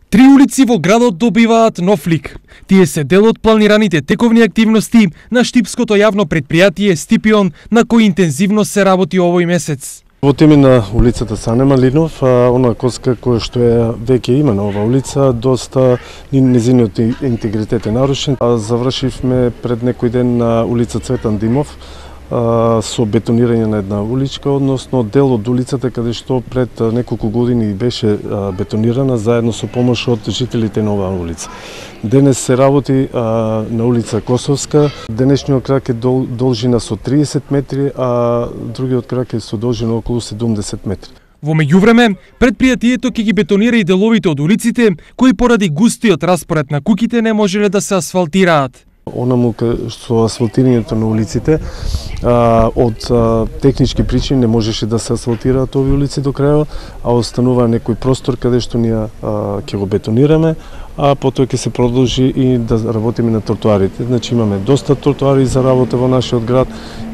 Три улици во градот добиваат нов лик. Тие се дел од планираните тековни активности на штипското јавно предпријатие Стипион, на кој интензивно се работи овој месец. Во теме на улицата Сане Малинов, она коска која што е веќе има на оваа улица, доста незиниот интегритет е нарушен. Завршивме пред некој ден на улица Цветан Димов со бетонирање на една уличка, односно дел од улицата каде што пред неколку години беше бетонирана заедно со помош од жителите на оваа улица. Денес се работи на улица Косовска. Денешниот крак е должина со 30 метри, а другиот крак е со должина околу 70 метри. Во меѓувреме, предпријатието ќе ги бетонира и деловите од улиците, кои поради густиот распоред на куќите не можеле да се асфалтираат. Онаму со асфалтирањето на улиците, од технички причини не можеше да се асфалтираат овие улици до крајот, а останува некој простор каде што ние ќе го бетонираме, а потоа ќе се продолжи и да работиме на тротоарите. Значи имаме доста тротоари за работа во нашиот град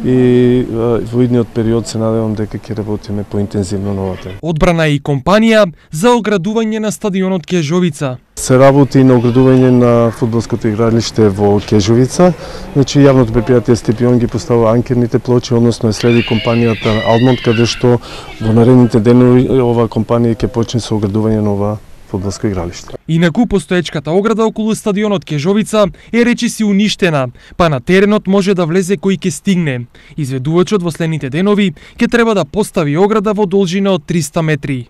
и во идниот период се надевам дека ќе работиме поинтензивно на оваа тема. Одбрана и компанија за оградување на стадионот Кежовица. Се работи на оградување на фудбалското игралиште во Кежовица. Значи јавното предпријатие Стипион ги поставува анкерните плочи, односно е следи компанијата Алмонт, каде што во наредните денови оваа компанија ќе почне со оградување на оваа фудбалско игралиште. Инаку постоечката ограда околу стадионот Кежовица е речиси уништена, па на теренот може да влезе кој ќе стигне. Изведувачот во следните денови ќе треба да постави ограда во должина од 300 метри.